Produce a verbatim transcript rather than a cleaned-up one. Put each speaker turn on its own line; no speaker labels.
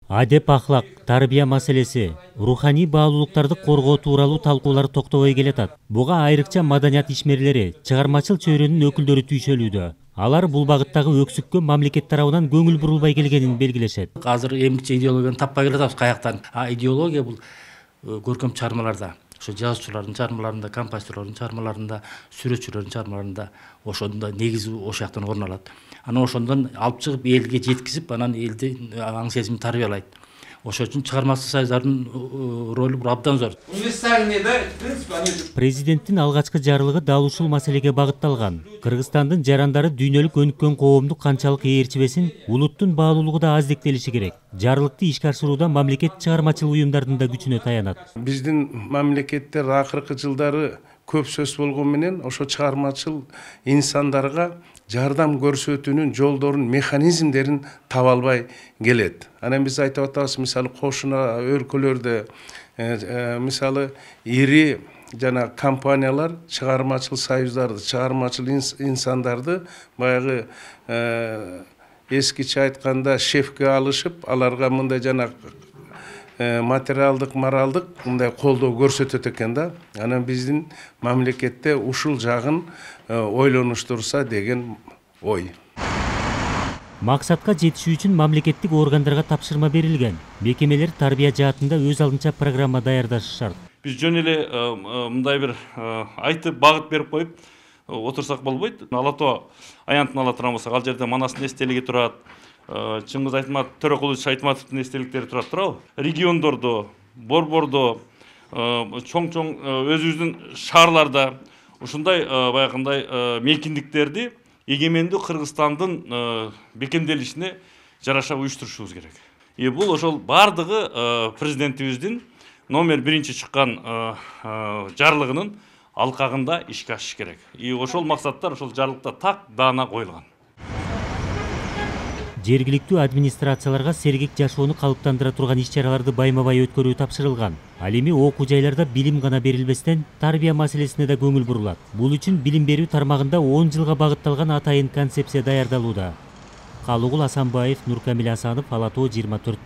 Адеп ахлак, тарбия маселеси, руханий баалуулуктарды коргоо тууралуу талкуулар токтобой келатат. Буга айрыкча маданият ишмерлери, чыгармачыл чөйрөнүн өкүлдөрү түйшөлүүдө. Алар бул багыттагы өксүккө мамлекет тарабынан көңүл бурулбай келгенин белгилешет.
Азыр эмгиче идеологияны таппай келатабыз каяктан. А идеология бул көркөм чыгармаларда, ошо жазуучулардын чыгармаларында, композиторлордун чыгармаларында, сүрөтчүлөрдүн чыгармаларында ошондо негизи ошол жактан орун алат. Анан ошондон алып чыгып элге жеткизип, анан элди аң сезимин тарбиялайт. Ошол үчүн чыгармачыл союздардын ролу абдан зор.
Президенттин алгачкы жарлыгы дал ушул маселеге багытталган. Кыргызстандын жарандары дүйнөлүк өнүккөн коомду канчалык ээрчибесин, улуттун баалуулугу да аздектелиши керек. Жарлыкты ишке ашырууда мамлекет чыгармачыл уюмдардын да күчүнө таянат.
Биздин мамлекеттер акыркы жылдары көп сөз болгон менен ошо чыгармачыл инсандарга жардам көрсөтүүнүн жолдорун, механизмдерин таба албай келет. Анан биз айтып атабыз, мисалы кошуна өлкөлөрдө мисалы ири жана компаниялар чыгармачыл союздарды, чыгармачыл инсандарды баягы эскиче айтканда шефке алышып, аларга мындай жана материалдык, моралдык мындай колдоо көрсөтөт экен да. Анан биздин мамлекетте ушул жагын ойлонуштурса деген ой.
Максатка жетишүү үчүн мамлекеттик органдарга тапшырма берилген. Мекемелер тарбия жаатында өз алдынча программа даярдашы шарт.
Биз жөн эле мындай бир айтып багыт берип коюп отурсак болбойт. Ала Тоо аянтын ала турган болсок, ал жерде Манастын эстелиги турат. Чыңгыз Айтматов, Төрөкулович Айтматовдун эстеликтери турат туурабы? Региондордо, борбордо, чоң-чоң өзүбүздүн шаарларда ушундай баягындай мейкиндиктерди эгемендүү Кыргызстандын бекемделишине жараша уюштурушубуз керек. И бул ошол бардыгы президентибиздин номер биринчи чыккан жарлыгынын алкагында ишке ашыш керек. И ошол максаттар ошол жарлыкта так даана коюлган.
Жергиликтүү администрацияларга сергек жашоону калыптандыра турган иш-чараларды байма-бай өткөрүү тапшырылган. Ал эми окуу жайларда билим гана берилбестен, тарбия маселесине да көңүл бурулат. Бул үчүн билим берүү тармагында он жылга багытталган атайын концепция даярдалууда. Калыгул Асанбаев, Нуркамил Асанов, Ала Тоо жыйырма төрт.